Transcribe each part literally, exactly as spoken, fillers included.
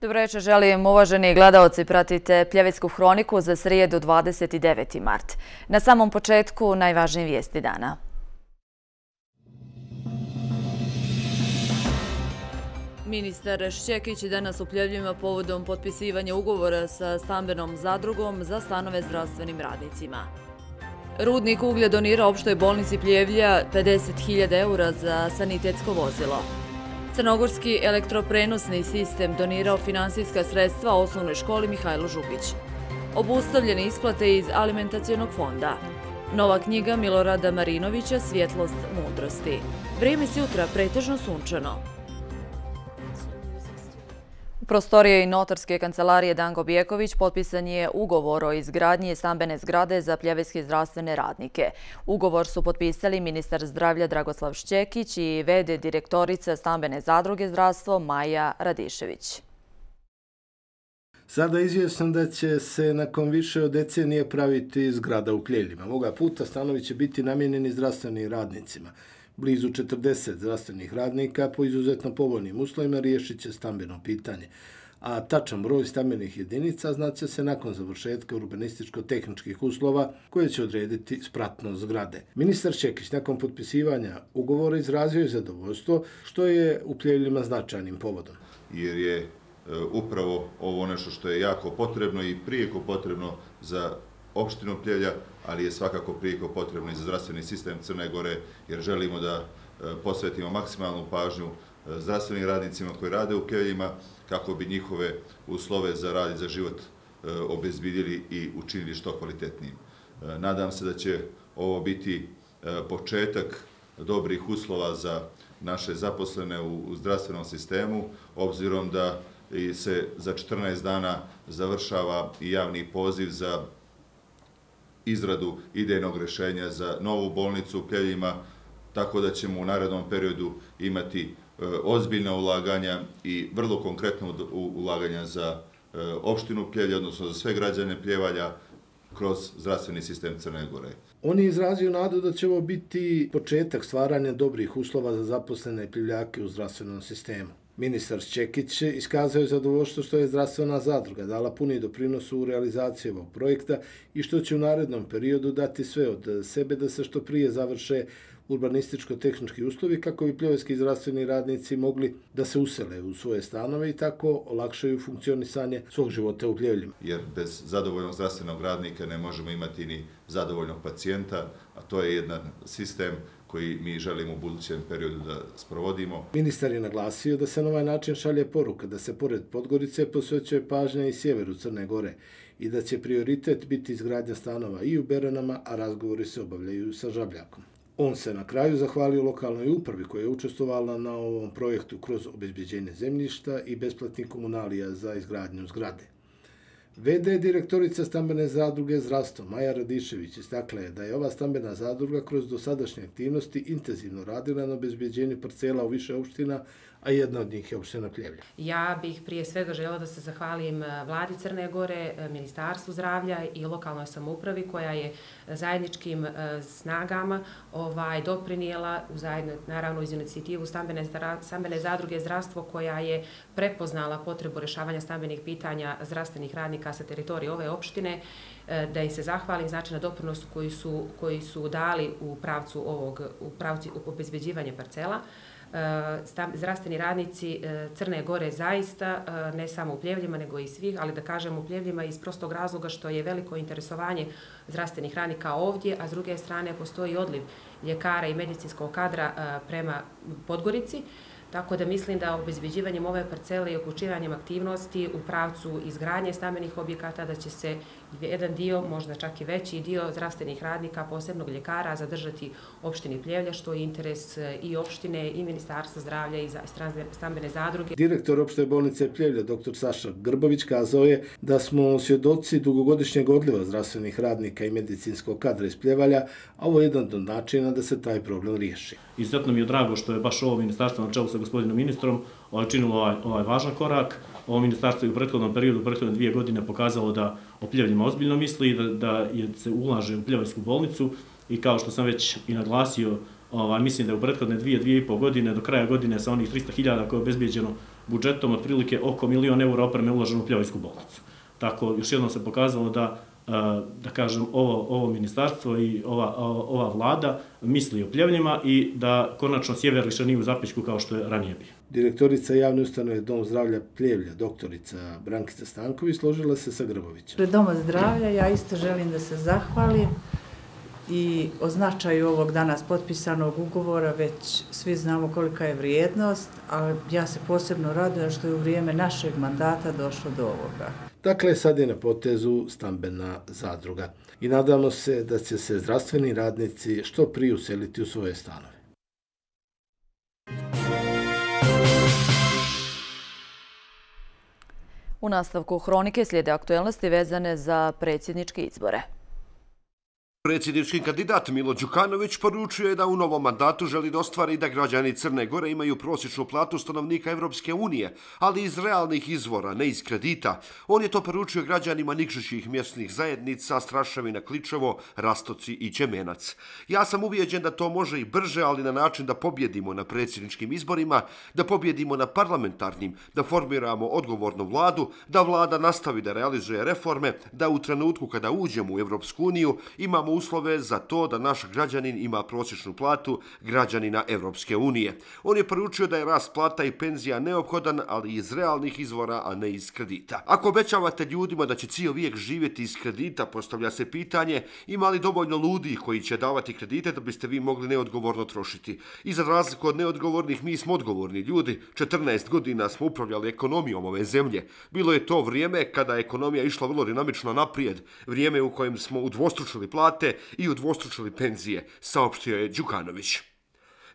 Dobro večer, želim uvaženi gledaoci, pratite Pljevecku hroniku za srijedu dvadeset deveti mart. Na samom početku najvažnije vijesti dana. Ministar Šćekić danas u Pljevljima povodom potpisivanja ugovora sa stambenom zadrugom za stanove zdravstvenim radnicima. Rudnik uglja donira opštoj bolnici Pljevlja pedeset hiljada eura za sanitetsko vozilo. Crnogorski elektroprenosni sistem donirao finansijska sredstva osnovnoj školi Mihajlo Žugić. Obustavljene isplate iz alimentacionog fonda. Nova knjiga Milorada Marinovića Svjetlost mudrosti. Vrijeme sutra pretežno sunčano. U prostoriji notarske kancelarije Danko Bjeković potpisan je ugovor o izgradnji stambene zgrade za pljevecke zdravstvene radnike. Ugovor su potpisali ministar zdravlja Dragoslav Šćekić i v d direktorica stambene zadruge zdravstvo Maja Radišević. Sada izvjesno da će se nakon više od decenije praviti zgrada u Pljevljima. Ovoga puta stanovi će biti namijenjeni zdravstvenim radnicima. Blizu četrdeset zdravstvenih radnika po izuzetno povoljnim uslovima riješit će stambeno pitanje, a tačan broj stambenih jedinica znaće se nakon završetka urbanističko-tehničkih uslova koje će odrediti spratnost zgrade. Ministar Šćekić nakon potpisivanja ugovora izrazio je zadovoljstvo što je u Pljevljima značajnim povodom. Jer je e, upravo ovo nešto što je jako potrebno i prijeko potrebno za opštinu Pljevlja, ali je svakako prijeko potrebno i za zdravstveni sistem Crne Gore, jer želimo da posvetimo maksimalnu pažnju zdravstvenim radnicima koji rade u Pljevljima, kako bi njihove uslove za rad i za život obezbedili i učinili što kvalitetnijim. Nadam se da će ovo biti početak dobrih uslova za naše zaposlene u zdravstvenom sistemu, obzirom da se za četrnaest dana završava i javni poziv za izradu idejnog rješenja za novu bolnicu u Pljevljima, tako da ćemo u narednom periodu imati ozbiljna ulaganja i vrlo konkretno ulaganja za opštinu Pljevlja, odnosno za sve građane Pljevalja kroz zdravstveni sistem Crne Gore. On je izrazio nadu da će ovo biti početak stvaranja dobrih uslova za zaposlene Pljevljake u zdravstvenom sistemu. Ministar Šćekić iskazao je zadovoljstvo što je zdravstvena zadruga dala puni doprinos u realizaciji ovog projekta i što će u narednom periodu dati sve od sebe da se što prije završe urbanističko-tehnički uslovi kako bi pljevecki zdravstveni radnici mogli da se usele u svoje stanove i tako olakšaju funkcionisanje svog života u Pljevljima. Jer bez zadovoljnog zdravstvenog radnika ne možemo imati ni zadovoljnog pacijenta, a to je jedan sistem koji mi želimo u budućem periodu da sprovodimo. Ministar je naglasio da se na ovaj način šalje poruka da se pored Podgorice posvećuje pažnja i sjeveru Crne Gore i da će prioritet biti izgradnja stanova i u Beranama, a razgovori se obavljaju sa Žabljakom. On se na kraju zahvalio lokalnoj upravi koja je učestvovala na ovom projektu kroz obezbeđenje zemljišta i besplatnih komunalija za izgradnju zgrade. v d direktorica stambene zadruge zdravstvo Maja Radišević istakla je da je ova stambena zadruga kroz dosadašnje aktivnosti intenzivno radila na obezbeđenju parcela u više opština, a jedna od njih je opština Pljevlja. Ja bih prije svega željela da se zahvalim vladi Crne Gore, Ministarstvu zdravlja i lokalnoj samoupravi koja je zajedničkim snagama ovaj, doprinijela, zajedno, naravno iz inicijativu stambene, stambene zadruge zdravstvo koja je prepoznala potrebu rješavanja stambenih pitanja zdravstvenih radnika sa teritorije ove opštine, da im se zahvalim znači na doprinosu koji su, koji su dali u pravcu ovog, u pravcu obezbeđivanja parcela. Zdravstveni radnici Crne Gore zaista, ne samo u Pljevljima, nego i svih, ali da kažem u Pljevljima iz prostog razloga što je veliko interesovanje zdravstvenih radnika ovdje, a s druge strane postoji odliv ljekara i medicinskog kadra prema Podgorici. Tako da mislim da obezbeđivanjem ove parcele i uključivanjem aktivnosti u pravcu izgradnje stambenih objekata da će se jedan dio, možda čak i veći dio zdravstvenih radnika, posebnog ljekara, zadržati opštini Pljevlja, što je interes i opštine i Ministarstva zdravlja i stambene zadruge. Direktor opšte bolnice Pljevlja, doktor Saša Grbović, kazao je da smo svjedoci dugogodišnjeg odliva zdravstvenih radnika i medicinskog kadra iz Pljevalja, a ovo je jedan od načina da se taj problem riješi. Izuzetno mi je drago što je baš ovo ministarstvo na čelu sa gospodinom ministrom činilo ovaj, ovaj važan korak. Ovo ministarstvo je u prethodnom periodu, u prethodne dvije godine pokazalo da o Pljevljima ozbiljno misli, da, da je, se ulaže u Pljevljsku bolnicu i kao što sam već i naglasio, Mislim da je u prethodne dvije, dvije i pol godine, do kraja godine sa onih trista hiljada koje je obezbijeđeno budžetom, otprilike oko milion eura opreme uloženo u Pljevljsku bolnicu. Tako, još jednom se pokazalo da da kažem, ovo, ovo ministarstvo i ova, ova vlada misli o Pljevljima i da konačno sjever više nije u zapećku kao što je ranije bio. Direktorica javne ustanove Dom zdravlja Pljevlja, doktorica Brankica Stanković, složila se sa Grbovićem. Pred Doma zdravlja ja isto želim da se zahvalim i o značaju ovog danas potpisanog ugovora, već svi znamo kolika je vrijednost, ali ja se posebno radujem što je u vrijeme našeg mandata došlo do ovoga. Dakle, sad je na potezu stambena zadruga i nadamo se da će se zdravstveni radnici što prije useliti u svoje stanove. U nastavku hronike slijede aktuelnosti vezane za predsjedničke izbore. Predsjednički kandidat Milo Đukanović poručio je da u novom mandatu želi da ostvari da građani Crne Gore imaju prosječnu platu stanovnika Evropske unije, ali iz realnih izvora, ne iz kredita. On je to poručio građanima nikšićih mjesnih zajednica Straševina, Kličevo, Rastoci i Ćemenac. Ja sam ubijeđen da to može i brže, ali na način da pobjedimo na predsjedničkim izborima, da pobjedimo na parlamentarnim, da formiramo odgovornu vladu, da vlada nastavi da realizuje reforme, da u trenutku kada uđemo u Evropsku uniju imamo uslove za to da naš građanin ima prosječnu platu građanina Evropske unije. On je poručio da je rast plata i penzija neophodan, ali iz realnih izvora, a ne iz kredita. Ako obećavate ljudima da će cijel vijek živjeti iz kredita, postavlja se pitanje ima li dovoljno ljudi koji će davati kredite da biste vi mogli neodgovorno trošiti. I za razliku od neodgovornih, mi smo odgovorni ljudi. četrnaest godina smo upravljali ekonomijom ove zemlje. Bilo je to vrijeme kada je ekonomija išla vrlo dinamično naprijed, vrijeme u kojem smo udvostručili plate i udvostručili penzije, saopštio je Đukanović.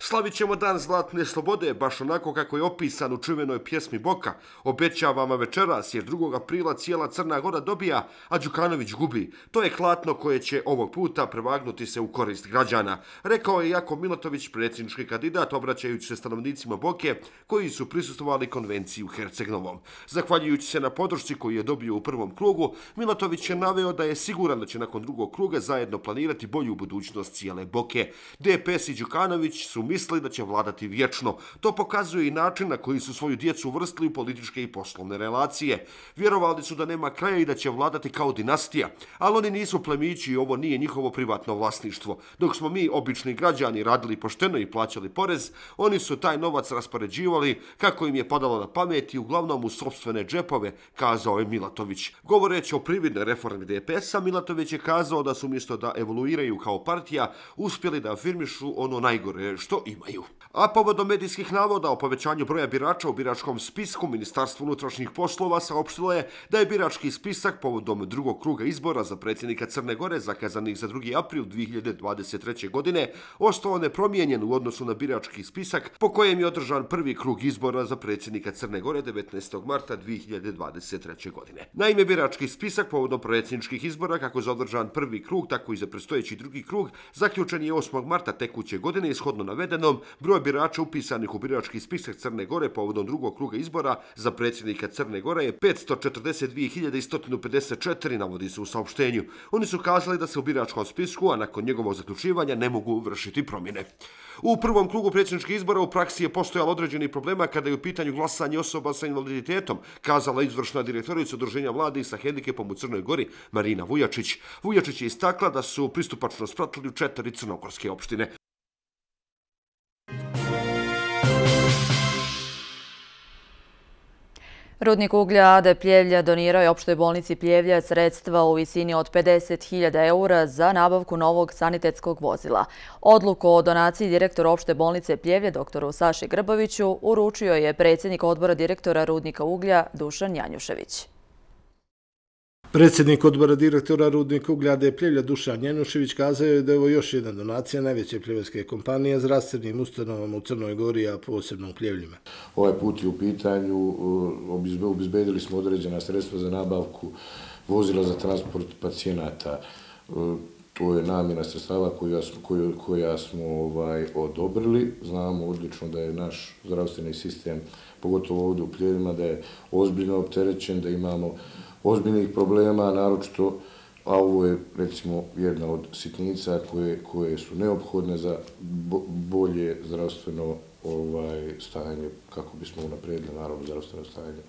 Slavit ćemo dan zlatne slobode, baš onako kako je opisan u čuvenoj pjesmi Boka. Obećavamo večeras, jer drugog aprila cijela Crna Gora dobija, a Đukanović gubi. To je klatno koje će ovog puta prevagnuti se u korist građana, rekao je Jakov Milatović, predsjednički kandidat, obraćajući se stanovnicima Boke, koji su prisustvovali konvenciji u Herceg-Novom. Zahvaljujući se na podršci koju je dobio u prvom krugu, Milatović je naveo da je siguran da će nakon drugog kruga zajedno planirati bolju budućnost cijele Boke. D P S i Đukanović su misli da će vladati vječno. To pokazuje i način na koji su svoju djecu uvrstili u političke i poslovne relacije. Vjerovali su da nema kraja i da će vladati kao dinastija, ali oni nisu plemići i ovo nije njihovo privatno vlasništvo. Dok smo mi, obični građani, radili pošteno i plaćali porez, oni su taj novac raspoređivali kako im je padalo na pamet i uglavnom u sopstvene džepove, kazao je Milatović. Govoreći o prividnoj reformi D P S-a, Milatović je kazao da su umjesto da evoluiraju kao partija, uspjeli da afirmišu ono najgore što imaju. A povodom medijskih navoda o povećanju broja birača u biračkom spisku, Ministarstvo unutrašnjih poslova saopštilo je da je birački spisak povodom drugog kruga izbora za predsjednika Crne Gore, zakazanih za drugi april dvije hiljade dvadeset treće. godine, ostao nepromijenjen u odnosu na birački spisak po kojem je održan prvi krug izbora za predsjednika Crne Gore devetnaestog marta dvije hiljade dvadeset treće. godine. Naime, birački spisak povodom predsjedničkih izbora, kako za održan prvi krug, tako i za predstojeći drugi krug, zaključen je osmog marta tekuće godine, ishodno navedenom, broj birača upisanih u birački spisak Crne Gore povodom drugog kruga izbora za predsjednika Crne Gore je petsto četrdeset dvije hiljade sto pedeset četiri, navodi se u saopštenju. Oni su kazali da se u biračkom spisku, a nakon njegovog zaključivanja, ne mogu vršiti promjene. U prvom krugu predsjedničkih izbora u praksi je postojalo određeni problema kada je u pitanju glasanje osoba sa invaliditetom, kazala izvršna direktorica Udruženja mladih sa hendikepom u Crnoj Gori, Marina Vujačić. Vujačić je istakla da su pristupačno spratili u četiri crnogorske opštine. Rudnik uglja A D Pljevlja donirao je opštoj bolnici Pljevlja sredstva u visini od pedeset hiljada eura za nabavku novog sanitetskog vozila. Odluku o donaciji direktora opšte bolnice Pljevlja, doktoru Saši Grboviću, uručio je predsjednik odbora direktora Rudnika uglja Dušan Janjušević. Predsjednik odbora direktora Rudnika uglja A D Pljevlja Dušan Janjušević kazao je da je ovo još jedna donacija najveće pljevljske kompanije zdravstvenim ustanovama u Crnoj Gori, a posebno u Pljevljima. Ovaj put je u pitanju, obezbedili smo određena sredstva za nabavku vozila za transport pacijenata. To je namjena sredstava koja smo odobrili. Znamo odlično da je naš zdravstveni sistem, pogotovo ovdje u Pljevljima, da je ozbiljno opterećen, da imamo ozbiljnih problema, naročito a ovo je recimo jedna od sitnica koje, koje su neophodne za bo, bolje zdravstveno ovaj, stanje, kako bismo unaprijedili naravno zdravstveno stanje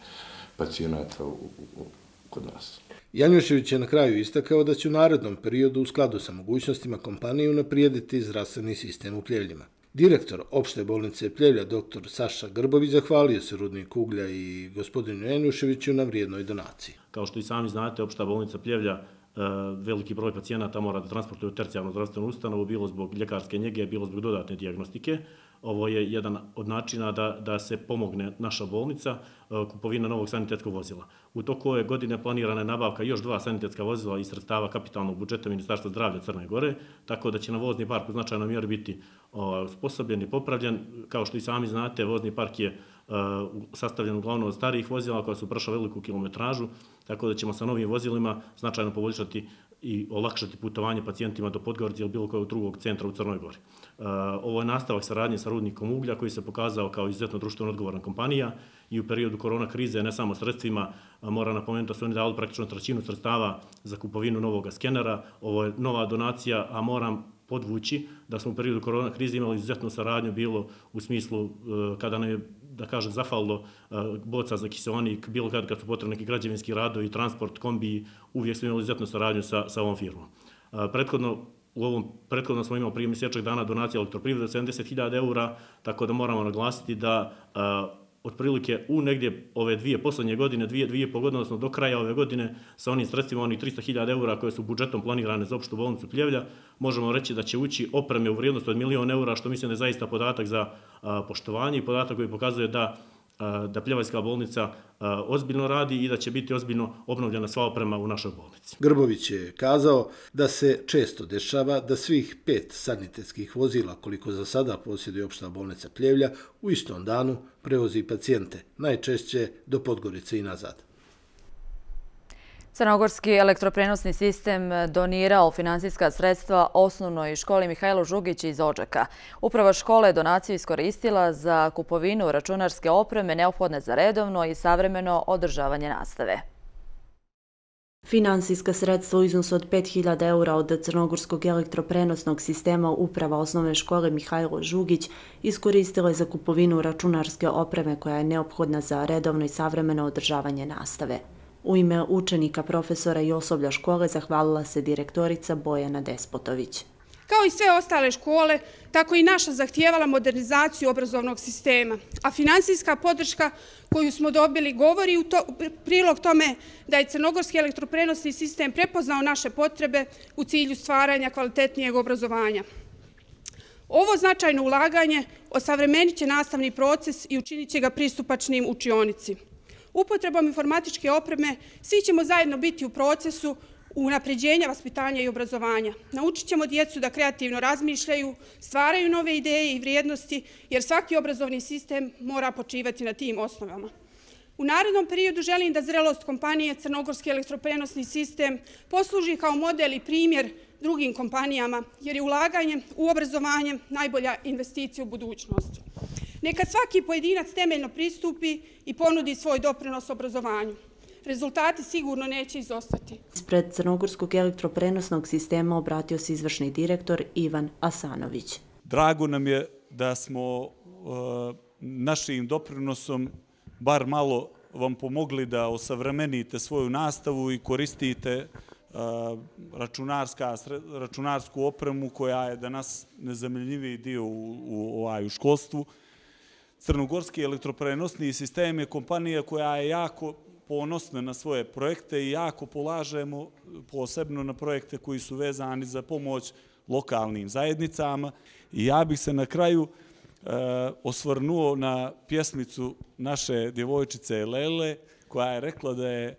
pacijenata u, u, kod nas. Janjušević je na kraju istakao da će u narednom periodu u skladu sa mogućnostima kompanije unaprijediti zdravstveni sistem u Pljevljima. Direktor opšte bolnice Pljevlja, doktor Saša Grbović, zahvalio se rudniku uglja i gospodinu Janjuševiću na vrijednoj donaciji. Kao što i sami znate, opšta bolnica Pljevlja veliki broj pacijenata mora da transportuje u tercijarnu zdravstvenu ustanovu, bilo zbog ljekarske njege, bilo zbog dodatne dijagnostike. Ovo je jedan od načina da, da se pomogne naša bolnica, kupovina novog sanitetskog vozila. U toku ove godine planirana je nabavka još dva sanitetska vozila iz sredstava kapitalnog budžeta Ministarstva zdravlja Crne Gore, tako da će na vozni park u značajnoj mjeri biti osposobljen i popravljen. Kao što i sami znate, vozni park je sastavljen uglavnom od starijih vozila koja su prošla veliku kilometražu, tako da ćemo sa novim vozilima značajno poboljšati i olakšati putovanje pacijentima do Podgorice ili bilo kojeg drugog centra u Crnoj Gori. Ovo je nastavak saradnje sa rudnikom uglja koji se pokazao kao izuzetno društveno odgovorna kompanija i u periodu korona krize, ne samo sredstvima, mora napomenuti da su oni dali praktično trećinu sredstava za kupovinu novog skenera. Ovo je nova donacija, a moram podvući da smo u periodu korona krize imali izuzetnu saradnju, bilo u smislu kada nam je, da kažem, zafalilo boca za kiseonik, bilo kad, kad su potrebni neki građevinski radovi, transport, kombiji, uvijek smo imali izuzetnu saradnju sa, sa ovom firmom. Prethodno, u ovom prethodno smo imali prije mjesečnog dana donacije elektroprivrede od sedamdeset hiljada eura, tako da moramo naglasiti da otprilike u negdje ove dvije poslednje godine, dvije, dvije po godine, odnosno do kraja ove godine, sa onim sredstvima, onih trista hiljada eura koje su budžetom planirane za opštu bolnicu Pljevlja, možemo reći da će ući opreme u vrijednosti od milion eura, što mislim da je zaista podatak za a, poštovanje i podatak koji pokazuje da, a, da Pljevajska bolnica a, ozbiljno radi i da će biti ozbiljno obnovljena sva oprema u našoj bolnici. Grbović je kazao da se često dešava da svih pet sanitetskih vozila, koliko za sada posjeduje opšta bolnica Pljevlja, u istom danu prevozi pacijente, najčešće do Podgorice i nazad. Crnogorski elektroprenosni sistem donirao finansijska sredstva osnovnoj školi Mihajlo Žugić iz Odžaka. Uprava škole je donaciju iskoristila za kupovinu računarske opreme neophodne za redovno i savremeno održavanje nastave. Finansijska sredstva u iznosu od pet hiljada eura od Crnogorskog elektroprenosnog sistema Uprava osnovne škole Mihajlo Žugić iskoristila je za kupovinu računarske opreme koja je neophodna za redovno i savremeno održavanje nastave. U ime učenika, profesora i osoblja škole zahvalila se direktorica Bojana Despotović. Kao i sve ostale škole, tako i naša zahtijevala modernizaciju obrazovnog sistema, a finansijska podrška koju smo dobili govori u to, prilog tome da je Crnogorski elektroprenosni sistem prepoznao naše potrebe u cilju stvaranja kvalitetnijeg obrazovanja. Ovo značajno ulaganje osavremenit će nastavni proces i učinit će ga pristupačnim učionici. Upotrebom informatičke opreme svi ćemo zajedno biti u procesu unapređenja vaspitanja i obrazovanja. Naučit ćemo djecu da kreativno razmišljaju, stvaraju nove ideje i vrijednosti, jer svaki obrazovni sistem mora počivati na tim osnovama. U narednom periodu želim da zrelost kompanije Crnogorski elektroprenosni sistem posluži kao model i primjer drugim kompanijama, jer je ulaganje u obrazovanje najbolja investicija u budućnosti. Neka svaki pojedinac temeljno pristupi i ponudi svoj doprinos obrazovanju. Rezultati sigurno neće izostati. Ispred Crnogorskog elektroprenosnog sistema obratio se izvršni direktor Ivan Asanović. Drago nam je da smo uh, našim doprinosom bar malo vam pomogli da osavremenite svoju nastavu i koristite uh, računarska, računarsku opremu koja je danas nezamjenjiviji dio u, u, u, u školstvu. Crnogorski elektroprenosni sistem je kompanija koja je jako ponosna na svoje projekte i jako polažemo posebno na projekte koji su vezani za pomoć lokalnim zajednicama. I ja bih se na kraju e, osvrnuo na pjesmicu naše djevojčice Lele koja je rekla da je, e,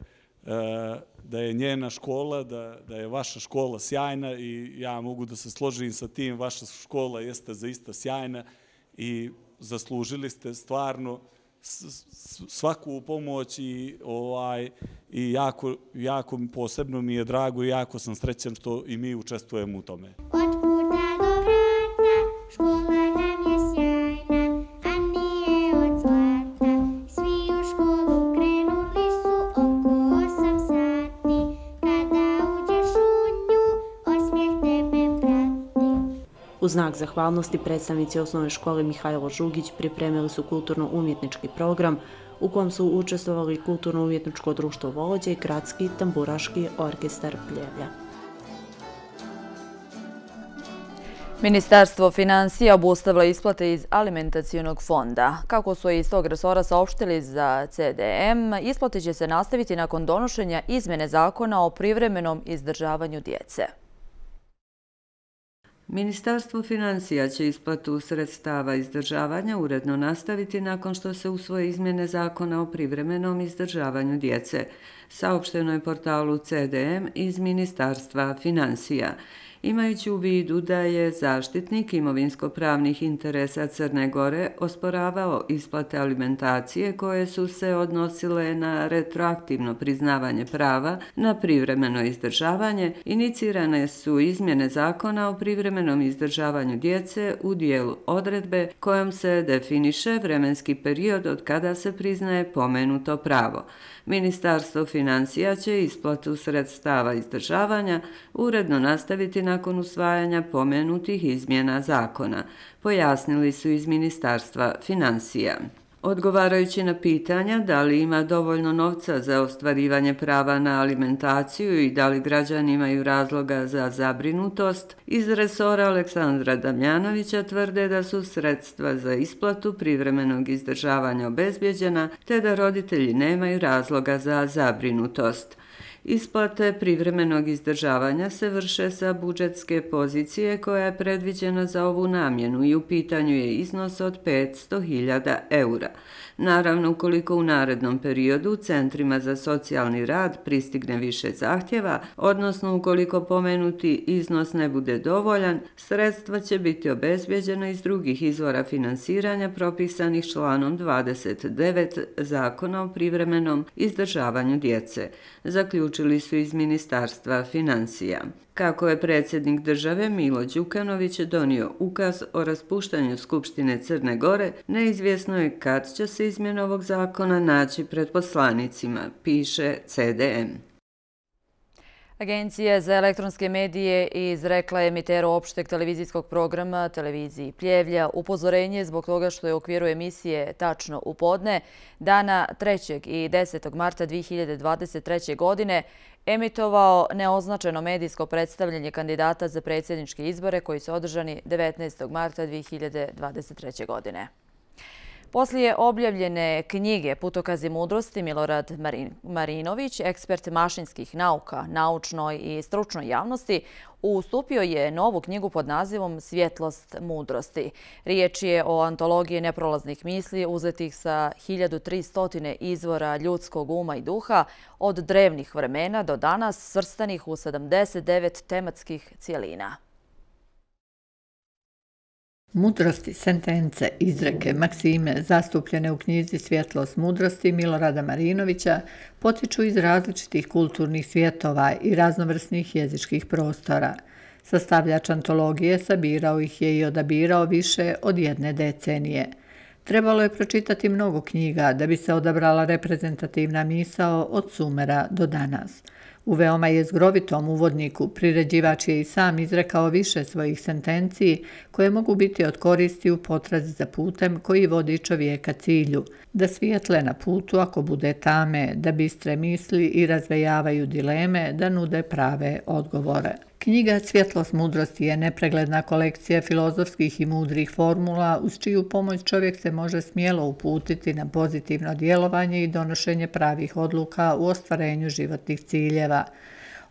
da je njena škola, da, da je vaša škola sjajna i ja mogu da se složim sa tim, vaša škola jeste zaista sjajna i zaslužili ste stvarno svaku pomoć i, ovaj, i jako, jako posebno mi je drago i jako sam srećan što i mi učestvujemo u tome. Od puta do vrata, škola nam je sjajna, a nije od zlata. Svi u školu krenuli su oko osam sati. Kada uđeš u U znak zahvalnosti predstavnici osnovne škole Mihajlo Žugić pripremili su kulturno-umjetnički program u kom su učestvovali Kulturno-umjetničko društvo Volođe i Gradski tamburaški orkestar Pljevlja. Ministarstvo financija obustavilo isplate iz alimentacionog fonda. Kako su iz tog resora saopštili za C D M, isplate će se nastaviti nakon donošenja izmene zakona o privremenom izdržavanju djece. Ministarstvo financija će isplatu sredstava izdržavanja uredno nastaviti nakon što se usvoje izmjene zakona o privremenom izdržavanju djece, saopšteno je portalu C D M iz Ministarstva financija. Imajući u vidu da je zaštitnik imovinsko-pravnih interesa Crne Gore osporavao isplate alimentacije koje su se odnosile na retroaktivno priznavanje prava na privremeno izdržavanje, inicirane su izmjene zakona o privremenom izdržavanju djece u dijelu odredbe kojom se definiše vremenski period od kada se priznaje pomenuto pravo. Ministarstvo financija će isplatu sredstava izdržavanja uredno nastaviti nakon usvajanja pomenutih izmjena zakona, pojasnili su iz Ministarstva financija. Odgovarajući na pitanja da li ima dovoljno novca za ostvarivanje prava na alimentaciju i da li građani imaju razloga za zabrinutost, iz resora Aleksandra Damjanovića tvrde da su sredstva za isplatu privremenog izdržavanja obezbjeđena te da roditelji nemaju razloga za zabrinutost. Isplate privremenog izdržavanja se vrše sa budžetske pozicije koja je predviđena za ovu namjenu i u pitanju je iznos od petsto hiljada eura. Naravno, ukoliko u narednom periodu u centrima za socijalni rad pristigne više zahtjeva, odnosno ukoliko pomenuti iznos ne bude dovoljan, sredstva će biti obezbjeđena iz drugih izvora finansiranja propisanih članom dvadeset devet Zakona o privremenom izdržavanju djece, zaključili su iz Ministarstva financija. Kako je predsjednik države Milo Đukanović donio ukaz o raspuštanju Skupštine Crne Gore, neizvjesno je kad će se izmjena ovog zakona naći pred poslanicima, piše C D M. Agencija za elektronske medije izrekla je emiteru opšteg televizijskog programa televiziji Pljevlja upozorenje zbog toga što je u okviru emisije Tačno u podne dana trećeg i desetog marta dvije hiljade dvadeset treće. godine emitovao neoznačeno medijsko predstavljanje kandidata za predsjedničke izbore koji su održani devetnaestog marta dvije hiljade dvadeset treće. godine. Poslije objavljene knjige Putokazi mudrosti, Milorad Marinović, ekspert mašinskih nauka, naučnoj i stručnoj javnosti, ustupio je novu knjigu pod nazivom Svjetlost mudrosti. Riječ je o antologiji neprolaznih misli uzetih sa hiljadu tristo izvora ljudskog uma i duha od drevnih vremena do danas, svrstanih u sedamdeset devet tematskih cijelina. Mudrosti, sentence, izreke, maksime zastupljene u knjizi Svjetlost mudrosti Milorada Marinovića potiču iz različitih kulturnih svjetova i raznovrsnih jezičkih prostora. Sastavljač antologije sabirao ih je i odabirao više od jedne decenije. Trebalo je pročitati mnogo knjiga da bi se odabrala reprezentativna misao od Sumera do danas. U veoma jezgrovitom uvodniku priređivač je i sam izrekao više svojih sentenciji koje mogu biti od koristi u potrazi za putem koji vodi čovjeka cilju, da svijetle na putu ako bude tame, da bistre misli i razvejavaju dileme, da nude prave odgovore. Knjiga Svjetlost mudrosti je nepregledna kolekcija filozofskih i mudrih formula uz čiju pomoć čovjek se može smjelo uputiti na pozitivno djelovanje i donošenje pravih odluka u ostvarenju životnih ciljeva.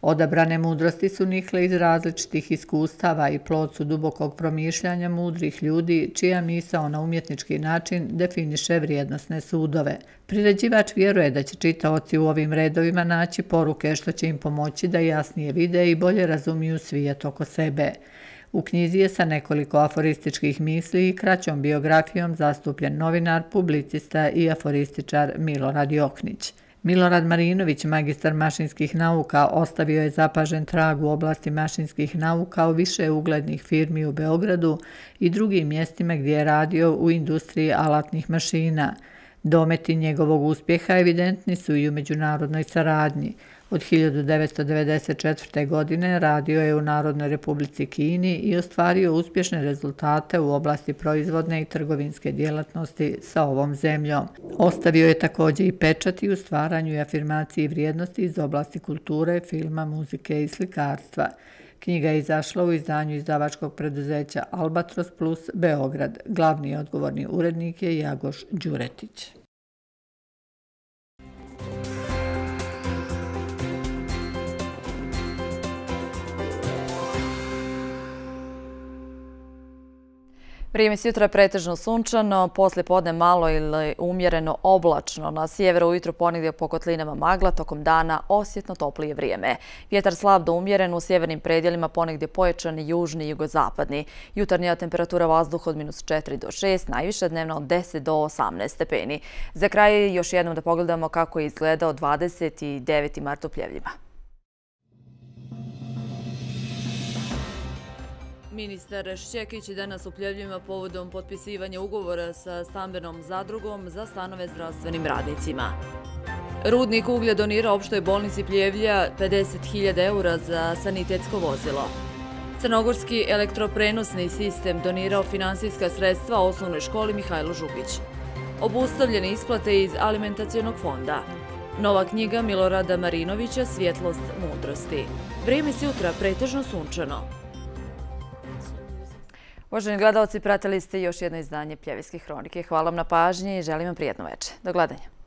Odabrane mudrosti su nikle iz različitih iskustava i plod su dubokog promišljanja mudrih ljudi čija misao na umjetnički način definiše vrijednosne sudove. Priređivač vjeruje da će čitaoci u ovim redovima naći poruke što će im pomoći da jasnije vide i bolje razumiju svijet oko sebe. U knjizi je sa nekoliko aforističkih misli i kraćom biografijom zastupljen novinar, publicista i aforističar Milorad Joknić. Milorad Marinović, magistar mašinskih nauka, ostavio je zapažen trag u oblasti mašinskih nauka u više uglednih firmi u Beogradu i drugim mjestima gdje je radio u industriji alatnih mašina. Dometi njegovog uspjeha evidentni su i u međunarodnoj saradnji. Od hiljadu devetsto devedeset četvrte. godine radio je u Narodnoj Republici Kini i ostvario uspješne rezultate u oblasti proizvodne i trgovinske djelatnosti sa ovom zemljom. Ostavio je također i pečat i u stvaranju i afirmaciji vrijednosti iz oblasti kulture, filma, muzike i slikarstva. Knjiga je izašla u izdanju izdavačkog preduzeća Albatros Plus Beograd. Glavni odgovorni urednik je Jagoš Đuretić. Vrijeme s jutra je pretežno sunčano, poslije podne malo ili umjereno oblačno. Na sjeveru ujutro ponegdje po kotlinama magla, tokom dana osjetno toplije vrijeme. Vjetar slab do umjeren, u sjevernim predjelima ponegdje pojačani južni i jugozapadni. Jutarnja temperatura vazduha od minus četiri do šest, najviše dnevno od deset do osamnaest stepeni. Za kraj još jednom da pogledamo kako je izgledao dvadeset deveti mart u Pljevljima. Ministar Šćekić danas u Pljevljima povodom potpisivanja ugovora sa stambenom zadrugom za stanove zdravstvenim radnicima. Rudnik uglja donira opštoj bolnici Pljevlja pedeset hiljada eura za sanitetsko vozilo. Crnogorski elektroprenosni sistem donirao finansijska sredstva osnovnoj školi Mihajlo Žugić. Obustavljene isplate iz alimentacionog fonda. Nova knjiga Milorada Marinovića Svjetlost mudrosti. Vrijeme s jutra pretežno sunčano. Uvaženi gledalci, pratili ste još jedno izdanje Pljevljske hronike. Hvala vam na pažnji i želim vam prijetno večer. Do gledanja.